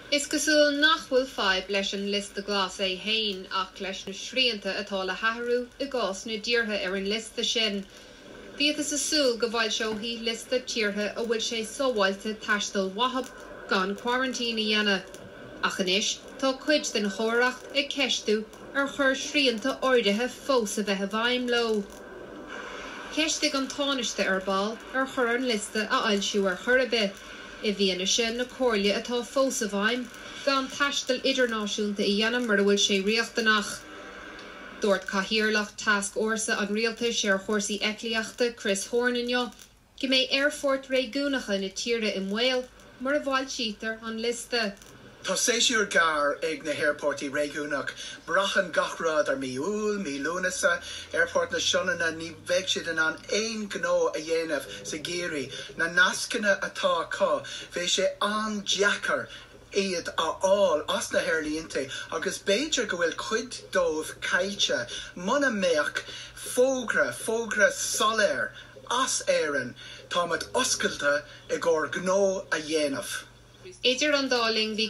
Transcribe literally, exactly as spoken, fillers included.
Is cosúil nach bhfuil fadhb leis an liosta glas é féin ach leis na srianta atá le hathrú i gcás na dtíortha ar an liosta sin. Bhíothas ag súil go bhfoilseofaí liosta tíortha a bhfuil sé sábháilte taisteal chucu gan quarantine a dhéanamh. Ach anois tá cuid den chomhaireacht ag ceistiú ar chóir srianta áirithe fós a bheith i bhfeidhm leo. Ceistigh an Tánaiste ar ball ar chóir an liosta a fhoilsiú ar chor ar bith. I bhfianaise na comhairle atá fós i bhfeidhm gan taisteal idirnáisiúnta a dhéanamh mura bhfuil sé riachtanach. Dúirt Cathaoirleach Tascfhórsa an Rialtais ar chúrsaí eitlíochta Chris Horan inniu, go mbeidh aerfoirt réigiúnacha na tíre i mbaol mura bhfoilsítear an liosta. Tá séasúr gearr ag na haerfoirt réigiúnach, braitheann gach rud ar mí Iúil, mí Lúnasa, Aerfort na Sionainne ní bheidh siad in ann aon ghnó a dhéanamh sa gheimhreadh. Na nascanna atá acu, bheadh sé an-deacair iad a fháil as na haerlínte agus b'fhéidir go bhfuil cuid dóibh caillte muna mbeadh fógra fógra soiléir as Éirinn táimid oscailte i gcomhair gnó a dhéanamh. Idir an dá linn bhí